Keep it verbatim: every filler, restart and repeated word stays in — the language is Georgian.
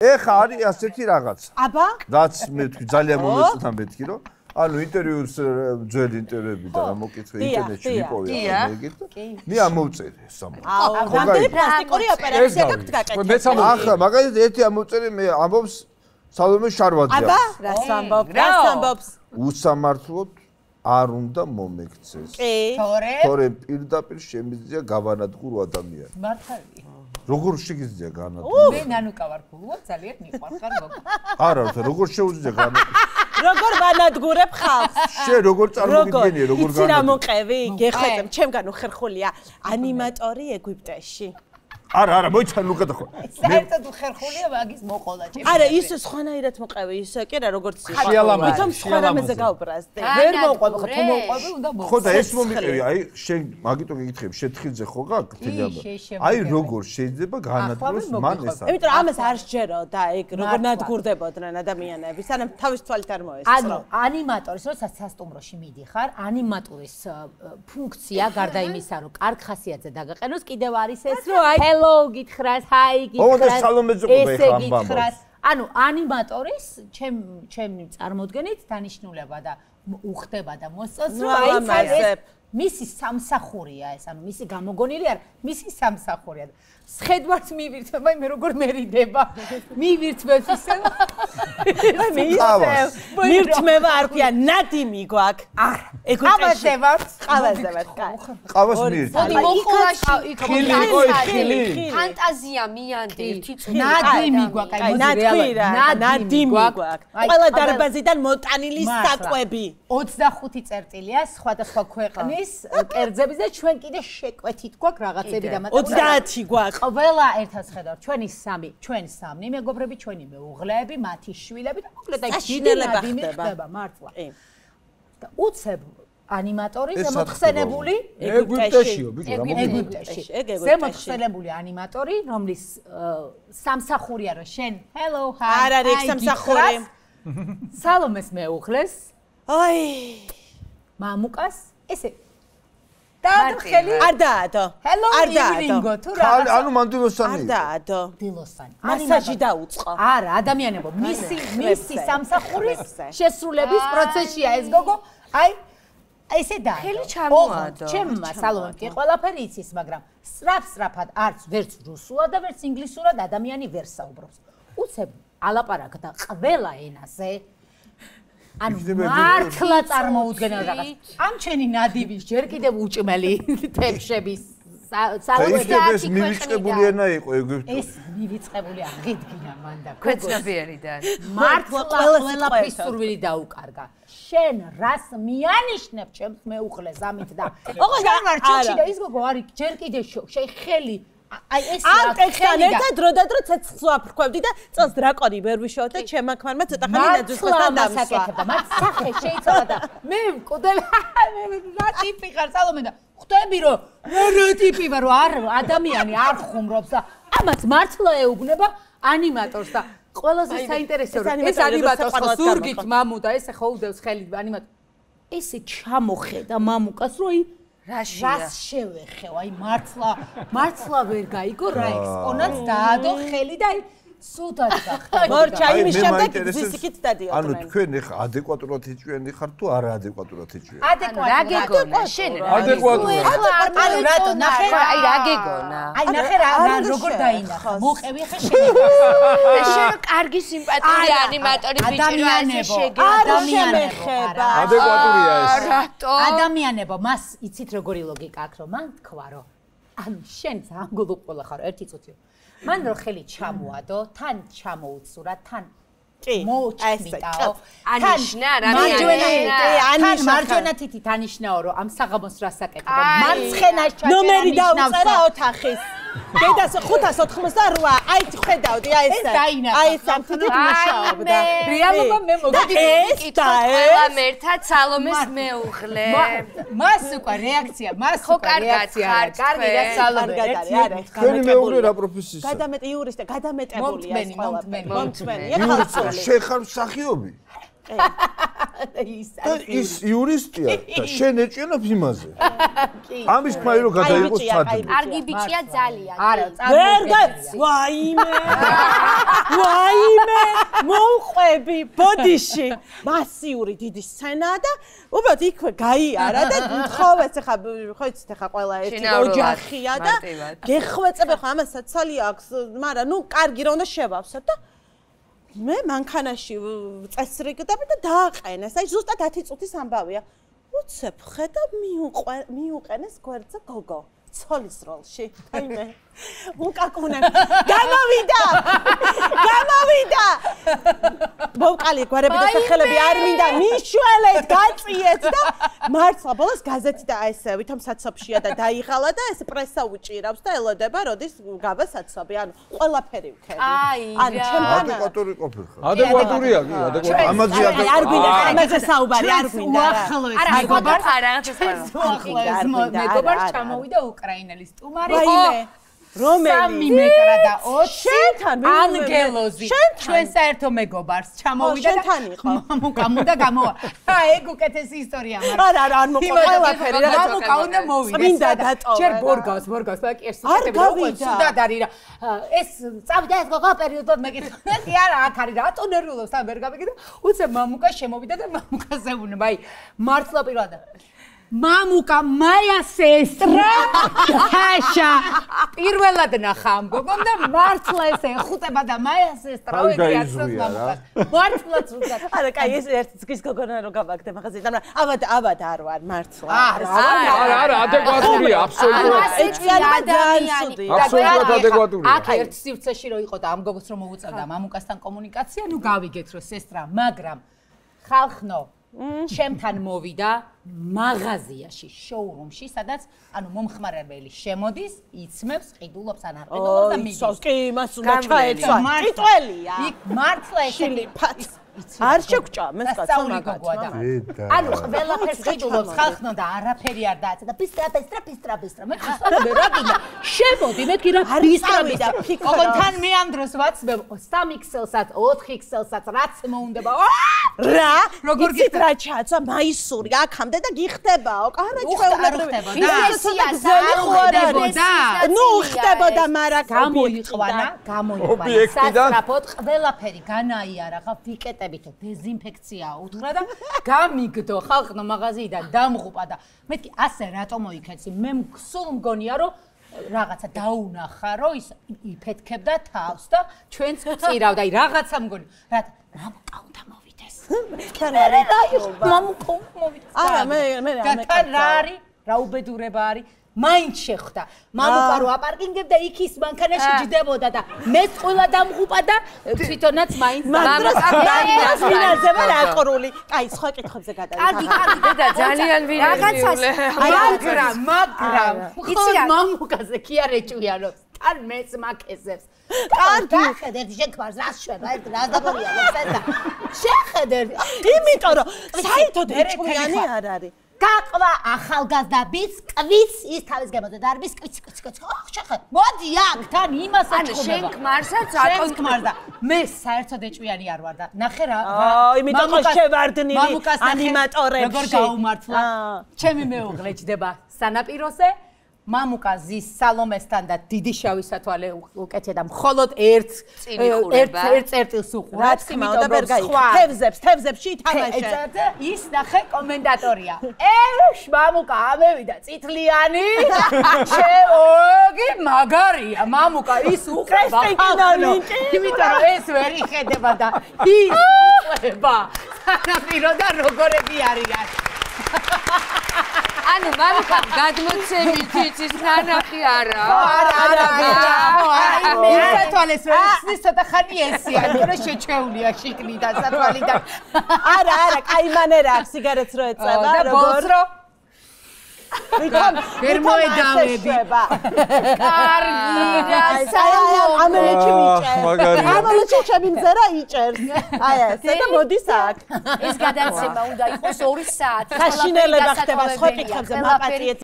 ეხა არის ასეთი რაღაცა. აბა? რაც მე თქვი ძალიან მომეწონა მეთქი რომ ანუ ინტერვიუს ძველი ინტერვიუები და რა მოკითხე ინტერნეტში ვიპოვე ამერიკით. მე ამოვწერე სამო. აუ, რამდენი პლასტიკური ოპერაცია გაქვთ გაკეთებული? ახლა მაგალითად ერთი ამოვწერე მე ამბობს სალომე შარვაძე. აბა? რას ამბობს? რას ამბობს? უსამართლოდ არ უნდა მომექცეს. კი. თორე? თორე პირდაპირ შემიძლია გავანადგურო ადამიანი. მართალია. როგორ შეგიძლია განადგურო? მე ნანუკა ვარ ფულო, ძალიან მიყვარხარ მოგ. არა, როგორ შეუძლია განადგურო? როგორ ვანადგურებ ხალხს? შე როგორ წარმოგიდგენია, როგორ განადგურებ? იცი რა მოყევი? გეხვეწე, ჩემგან უხერხულია ანიმატორი ეგვიპტეში. არა, არა, მოიცა ნუკა დახო. საერთოდ უხერხულია მაგის მოყოლა ჩემს. არა, ის სხვანაირად მოყევი, ის კი რა როგორც ის. ხიალამაზი, სხვა რამეზე გავბრაზდი. ვერ მოყვები, ხო თუ მოყვები, უნდა მოყვები. ხო და ეს მომიყევი, აი შენ მაგიტო გეკითხები, შეთხილზე ხო გაქვს თელიაბა. აი როგორ შეიძლება განადგუროს მან ეს. იმიტომ რომ ამას არ შეჯერო და ეგ როგორ ნადგურდებოდნენ ადამიანები, სანამ თავის თვალით არ მოესწრო. ანუ ანიმატორის როდესაც სასტუმროში მიდიხარ, ანიმატორის ფუნქცია გარდა იმისა, რომ კარგ ხასიათზე დაგაყენოს, კიდევ არის ეს, რომ აი hello გითხრას, hi გითხრას, ესე გითხრას. ანუ ანიმატორის ჩემ ჩემი წარმოდგენით დანიშნულება და უხდება და მოსწონს, რომ აი ეს მისი სამსახურია ეს, ანუ მისი გამოგონილი არ, მისი სამსახურია. სხედვარს მივირთვება, მე როგორ მერიდება. მივირთვებს ისე. მივირთმევა არ ქვია, ნადიმი გვაქვს. არა, ეგვიპტეში ვარ. ყავაზე ვარ. ყავას მივირთმევ. მოდი მოხულაში ხილი ყოი ხილი. ფანტაზია მიანდი ერთი წუთი. ნადიმი გვაქვს, აი ნადიმი რა, ნადიმი გვაქვს. ყველა დარბაზიდან მოტანილი საკვები. ოცდახუთი წერტილია სხვადასხვა ქვეყნის კერძების და ჩვენ კიდე შეკვეთით გვაქვს რაღაცები და მათი ოცდაათი გვაქვს. ყველა ერთად ხედავთ ჩვენი სამი, ჩვენი სამი მეგობრები, ჩვენი მეუღლეები, მათი შვილები და მოკლედ აი დიდი ნადიმი ხდება მართლა. და უცებ ანიმატორის მოხსენებული ეგვიპტეშიო, ბიჭო, რა მოგიწევს? ეგვიპტეში. ზემოხსენებული ანიმატორი, რომლის სამსახურია რომ შენ hello hi არ არის სამსახური. სალომეს მეუღლეს, აი, მამუკას, ესე და ხელი არ დაადო. hello evening-ო თუ რა. ანუ მანდილოსანი. არ დაადო. დილოსანი. მასაჟი დაუწყო. არა, ადამიანებო, მისი მისი სამსახურის შესრულების პროცესია ეს გოგო. აი ესე და ხელი ჩამოადო. ჩემმა სალომემ კი ყველაფერი იცის, მაგრამ სრაფ-სრაფად არც ვერც რუსულად და ვერც ინგლისურად ადამიანი ვერ საუბრობს. უცებ ალაპარაკდა ყველა ენაზე. ანუ მართლა წარმოუდგენელ რაღაც. ამ ჩენი ნადიმის ჯერ კიდევ უჭმელი თემშების საუბრებს მივიწყებული ენა იყო ეგვიპტური. ეს მივიწყებული აღიდგინა მან და ქვეცნებიერიდან. მართლა ყველაფრის სურვილი დაუკარგა. შენ რას მიანიშნებ ჩემს მეუღლეს ამით და ოღონდ არ ჩოჩი და ის გოგო არის ჯერ კიდევ შენ ხელი აი ეს ამ ტექსტთან ერთად დრო და დრო ცეცხლს ვაფრქვევდი და წელს დრაკონი ვერ ვიშოვ და ჩემმა ქმარმა ცოტა ხანი ნაძვისთან დამსვა. მათ სახე შეიძლება და მე მკვდები რა ტიპი ხარ სალომე და ხვდები რომ რა ტიპი ვარ რომ არ ადამიანი არ ხუმრობს და ამაც მართლა ეუბნება ანიმატორს და ყველაზე საინტერესო რომ ეს ანიმატორს ხო ზურგით მამუ და ესე ხო უდევს ხელი ანიმატორს ესე ჩამოხედა მამუკას რომ რაშია რას შევეხევ აი მართლა მართლა ვერ გაიგო რა ექსპონატს დაადო ხელი და აი სულთან გახდა მორჩა იმის შემდეგ ვისიქით დადიოდნენ ანუ თქვენ ეხა ადეკვატურად ეჭვიანი ხართ თუ არა ადეკვატურად ეჭვიანი ადეკვატურად რა გეგონა შენ ადეკვატურად ანუ რატო ნახე აი რა გეგონა აი ნახე რა როგორ დაინახა მოყევი ხა შენ შენ კარგი სიმპათიური ანიმატორი ბიჭი რა ესე შეგე ადამიანებო ადეკვატურია ეს რატო ადამიანებო მას იცით როგორი ლოგიკა აქვს რომ მან თქვა რომ ანუ შენ ძალიან გულუყოლა ხარ ერთი წუთი მან რო ხელი ჩამოადო, თან ჩამოუცურა, თან მოუჭმიტაო. ანიშნა რა მარჯვენა, თან მარჯვენა თითი დანიშნაო, რომ ამ საღამოს რას აკეთებ. მარცხენას ჩაჭერა ნომერი დაუწერა ოთახის. დედას ხუთას ოთხმოცდარვა, აი ხედავდი, აი ეს. აი ეს ამ თითით მუშაობდა. რეალობა მე მოგდი კითხვა ყველა მერთად სალომეს მეუღლე. მას უკვე რეაქცია, მას უკვე რეაქცია. კარგი რა სალომე, ერთი არა. თქვენი მეუღლე რა პროფესიის? გადამეტი იურისტი, გადამეტებულია ეს ყველა. მომთმენი, მომთმენი. შენ ხარ მსახიობი? ის იურისტია და შენ ეჭიანობ იმაზე. ამის თქმა რომ გადაიღოს ცადი. კარგი ბიჭია ძალიან. არა, ვერ გაიც. ვაიმე. ვაიმე. მოუყვები ბოდიში. მასიური დიდი სცენაა და უბრალოდ იქვე გაიარა და თხოვეს ახლა ხო იცით ახლა ყველა ერთი ოჯახია და გეხვეწებ ახლა ამას საცალი აქვს, მაგრამ ნუ კარგი რა უნდა შევავსოთ და მე მანქანაში წესრიგდები და დააყენეს. აი ზუსტად ათი წუთის ამბავია. უცებ ხედა მიუყვე მიუყენეს გვერდზე გოგო. ცოლის როლში. აი მე უკაკუნე. გამოვიდა! გამოვიდა! მოვყალი გვარები და სახელები არ მინდა მიშველეთ, გაწიეთ და მართლა ბოლოს გაზეთი და აი ესე ვითომ საცობშია და დაიღალა და ეს პრესა უჭირავს და ელოდება როდის გაბა საცობი. ანუ ყველაფერი ვქები. ანუ ჩემთან ადეკვატური ყოფილიყო. ადეკვატურია კი, ადეკვატური. ამაზე არ გვინდა ამაზე საუბარი არ გვინდა. არა, მეგობარს არ აღწევს უახლოეს მეგობარს ჩამოვიდა უკრაინელი სტუმარი. ვაიმე რომელი სამი მეტრა და ოცი შენთან ანგელოზი ჩვენ საერთო მეგობარს ჩამოვიდა შენთან იყო მამუკა გამოვა ა ეგ უკეთესი ისტორია მაგრამ არა არა არ მოყვა ყველაფერი რა მამუკა უნდა მოვიდეს წმინდა დატოვა ჯერ ბორგავს ბორგავს და კი ეს სუდად არის რა ეს წავიდა ეს გოგო პერიოდად მეკითხა კი არა აქ არის რატო ნერვიულობს და ვერ გამიგე და უცებ მამუკა შემოვიდა და მამუკაზე უნება აი მართლა პირადად მამუკა მაია სესტრა თაშა პირველად ნახა ამ გოგომ და მართლა ესე ეხუტება და მაია სესტრა ვიგიაცოს მამუკას მართლა ცუდად არა კაი ეს ერთი წლის გოგონა რო გავაგდე მაღაზია და აბად აბად არ ვარ მართლა არა არა არა ადეკვატურია აბსოლუტურად ეჭიანობა ძალიან ცუდია აბსოლუტურად ადეკვატურია აქ ერთ სივრცეში რო იყო და ამ გოგოს რომ მოუწევდა მამუკასთან კომუნიკაცია ნუ გავიგეთ რომ სესტრა მაგრამ ხალხნო ჩემთან მოვიდა მაღაზიაში, შოურუმში, სადაც ანუ მომხმარებელი შემოდის, იცმებს, ყიდულობს ან არ ყიდულობს და მიდის. ой, კი, მას უნდა ჩაეცვა. ტიტველია. იქ მართლა ესენი არ შეგჭა, მე სწავლი გოგოა. ანუ ყველაფერს ყიდულობს ხალხნო და არაფერი არ დააცა და პისტრა პისტრა პისტრა პისტრა. მე ხსოვდი რა გინდა. შემოდი, მეთქი რა პისტრა პისტრა. ოღონდ თან მე ამ დროს ვაცმებ სამი ქსელსაც, ოთხი ქსელსაც, რაც მოუნდება. რა? როგორ გიხდა რა ჩაცვა მაისური აქამდე და გიხდებაო. არა ჩვეულებრივი. ხდებოდა. ნუ ხდებოდა, მაგრამ გამოიყვანა, გამოიყვანა. სასწრაფოდ ყველაფერი განაიარა, ხა ფიკეტებით დეზინფექცია უთხრა და გამიგდო ხალხნო მაღაზიიდან დამღუპა და მეთქი ასე რატო მოიქეცი? მე სულ მგონია რომ რაღაცა დაუნახა რომ ის იფეთქებდა თავს და ჩვენც წირავდა. აი რაღაცა მგონი. რა მამუკა უნდა მოვიდეს. თან არის მამუკა მოვიდეს. არა მე მე რა თან რა არის? რა უბედურება არის? მაინც შეხვდა. მამუკა რო აპარკინგებდა იქ ის მანქანაში ჯდებოდა და მეც ყველა დამღუპა და თვითონაც მაინც მამუკას ვინარდება რაყრული. კაი, სხვა კითხებზე გადავიდე. კარგი, კარგი, დედა ძალიან ვინარებული. მაგრამ, მაგრამ, იცი რა მამუკაზე კი არ ეჭვიანობს. თან მეც მაკეზებს. კარგი, ხედეთ შექმარს რა შვება, ერთ რა დაგორიალებს ეს და შეხედეთ. იმიტომ რომ საერთოდ ეჭვიანი არ არის. გაყვა ახალგაზრდა ბისკვიც ის თავის გემოზე და არ ბისკვიც კიც კიც ხო შეხე მოდი აქ თან იმას აჩხუბება შენ ქმარსაც რატომ ქმარ და მე საერთოდ ეჭვიანი არ ვარ და ნახე რა აი იმიტომ რომ შევარდნილი ანიმატორებში როგორ გაუმართლა ჩემი მეუღლე ჯდება სანაპიროზე მამუკა ზის სალომესთან და დიდი შავი სათვალე უკეთია და მხოლოდ ერთ ერთ ერთ წერტილს უყურებს იმიტომ რომ სხვა თევზებს თევზებში ითამაშე ის ნახე კომენტატორია ეშ მამუკა ამევიდა წითლიანი შეოგი მაგარია მამუკა ის უყურება იმიტომ რომ ეს ვერ იხედება და ის უყურება სანაპიროდან როგორები არიან ანუ მამუკა გადმოცემით იცის ნანახი არა არა არა აი მე სათვალეს ვერ ხსნის ცოტა ხანი ესია იმიტომ რომ შეჩეულია შიგნიდან სათვალიდან არა არა კაი მანერა აქვს სიგარეტს რო ეწევა და ბოლოს რო ვითომ ვერ მოედავები კარგი ამელეჩი მიჭერს ამელეჩი ჩემი მზერა იჭერს აი ესე და მოდის აქ ეს გადაცემა უნდა იყოს ორი საათი საშინელება ხდება სხვა კითხებზე მაპატიეთ